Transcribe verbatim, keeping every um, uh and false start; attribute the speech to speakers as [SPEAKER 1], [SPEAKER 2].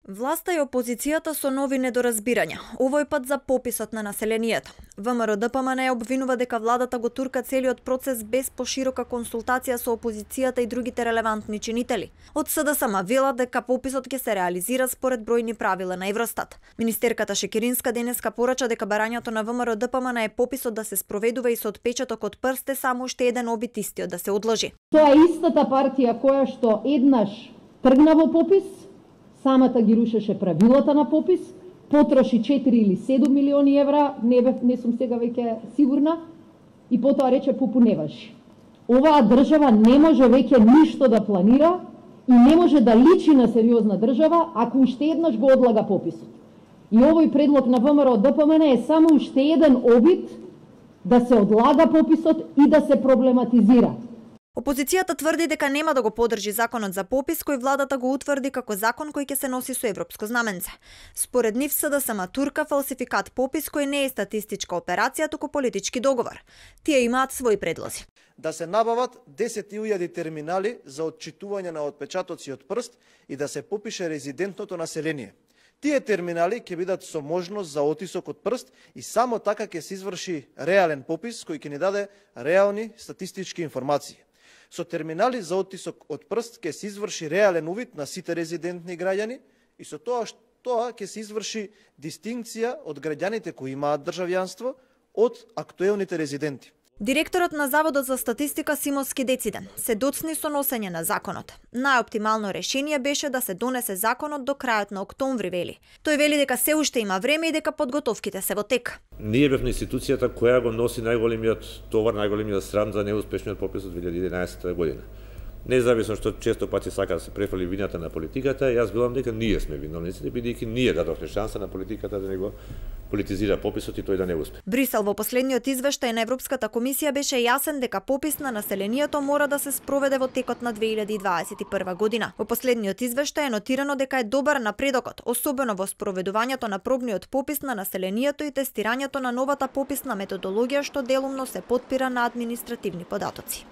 [SPEAKER 1] Власта и опозицијата со нови недоразбирања, овој пат за пописот на населението. ВМРО-ДПМН обвинува дека владата го турка целиот процес без поширока консултација со опозицијата и другите релевантни чинители. Од СДСМ велат дека пописот ќе се реализира според бројни правила на Евростат. Министерката Шекеринска денеска порача дека барањето на ВМРО-ДПМН е пописот да се спроведува и со отпечаток од прст е само уште еден обид истиот да се одложи.
[SPEAKER 2] Тоа е истата партија која што еднаш тргна во попис, самата ги рушеше правилата на попис, потроши четири или седум милиони евра, не, бе, не сум сега веќе сигурна, и потоа рече пупу не важи. Оваа држава не може веќе ништо да планира и не може да личи на сериозна држава ако уште еднаш го одлага пописот. И овој предлог на ВМРО-ДПМН е само уште еден обид да се одлага пописот и да се проблематизира.
[SPEAKER 1] Опозицијата тврди дека нема да го поддржи законот за попис кој владата го утврди како закон кој ќе се носи со европско знаменце. Според нив СДСМ турка фалсификат попис кој не е статистичка операција, туку политички договор. Тие имаат своји предлози.
[SPEAKER 3] Да се набават десет илјади терминали за отчитување на отпечатоци од прст и да се попише резидентното население. Тие терминали ќе бидат со можност за отисок од прст и само така ќе се изврши реален попис кој ќе ни даде реални статистички информации. Со терминали за отисок од прст ќе се изврши реален увид на сите резидентни граѓани и со тоа тоа ќе се изврши дистинкција од граѓаните кои имаат државјанство од актуелните резиденти.
[SPEAKER 1] Директорот на Заводот за статистика Симо Скидециден се доцни со носење на законот. Најоптимално решение беше да се донесе законот до крајот на октомври, вели. Тој вели дека се уште има време и дека подготовките се во тек.
[SPEAKER 4] Ние бевме институцијата која го носи најголемиот товар, најголемиот срам за неуспешниот попис од две илјади и единаесета година. Независно што често пати сака да се префали вината на политиката, јас велам дека ние сме виновниците, бидејќи ние дадовме шанса на политиката да не го политизира пописот и тој да не успе.
[SPEAKER 1] Брисел во последниот извештај на Европската комисија беше јасен дека попис на населението мора да се спроведе во текот на две илјади и дваесет и прва година. Во последниот извештај е нотирано дека е добар напредокот, особено во спроведувањето на пробниот попис на населението и тестирањето на новата пописна методологија што делумно се потпира на административни податоци.